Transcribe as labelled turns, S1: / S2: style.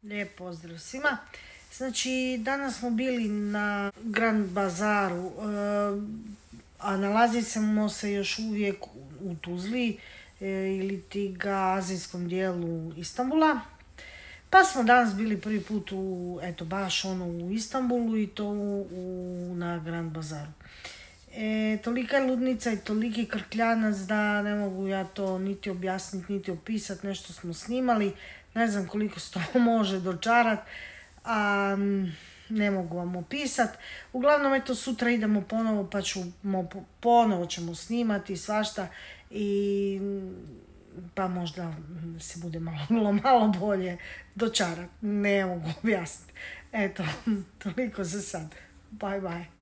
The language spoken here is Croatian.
S1: Lijep pozdrav svima. Znači, danas smo bili na Grand Bazaru, a nalazimo se još uvijek u Tuzli ili ti ga azijskom dijelu Istanbula. Pa smo danas bili prvi put baš u Istanbulu i to na Grand Bazaru. Tolika je ludnica i toliki krkljanac da ne mogu ja to niti objasniti, niti opisati. Nešto smo snimali, ne znam koliko se to može dočarati, a ne mogu vam opisati. Uglavnom, sutra idemo ponovo, pa ponovo ćemo snimati svašta pa možda se bude malo bolje dočarati. Ne mogu objasniti. Eto, toliko za sad. Bye bye.